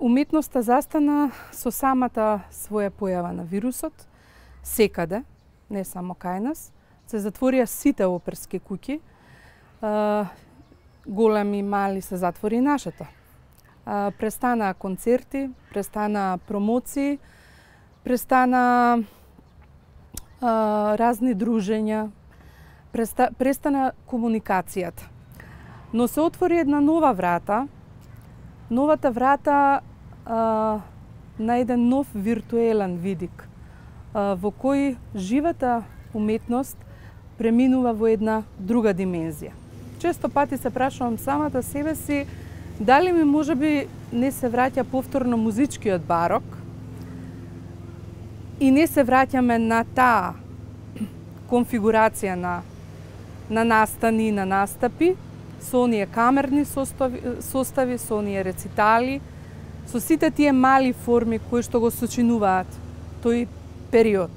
Уметноста застана со самата своја појава на вирусот, секаде, не само кај нас. Се затворија сите оперски куќи, големи, мали, се затвори и нашата. Престанаа концерти, престанаа промоции, престана разни дружења, престана комуникацијата. Но се отвори една нова врата, новата врата на еден нов виртуелен видик, во кој живата уметност преминува во една друга димензија. Често пати се прашувам самата себе си, дали ми можеби не се враќа повторно музичкиот барок и не се враќаме на таа конфигурација на настани, на настапи, со оние камерни состави, со оние рецитали, со сите тие мали форми кои што го сочинуваат тој период.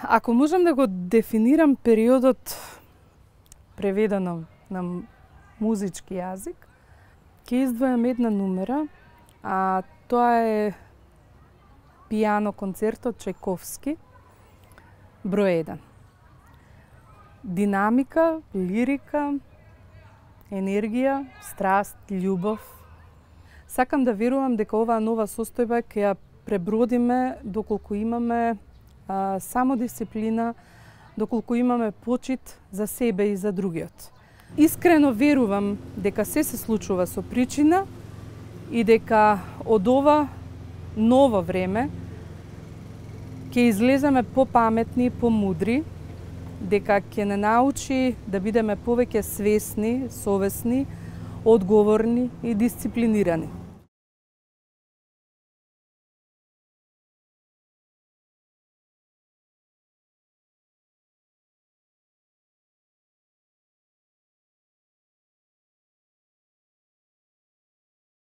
Ако можам да го дефинирам периодот преведено на музички јазик, ќе издвојам една numera, а тоа е пијано концертот Чајковски, број 1. Динамика, лирика, енергија, страст, љубов. Сакам да верувам дека оваа нова состојба ќе ја пребродиме доколку имаме самодисциплина, доколку имаме почит за себе и за другиот. Искрено верувам дека се случува со причина и дека од ова ново време ќе излеземе попаметни, помудри, дека ќе не научи да бидеме повеќе свесни, совесни, одговорни и дисциплинирани.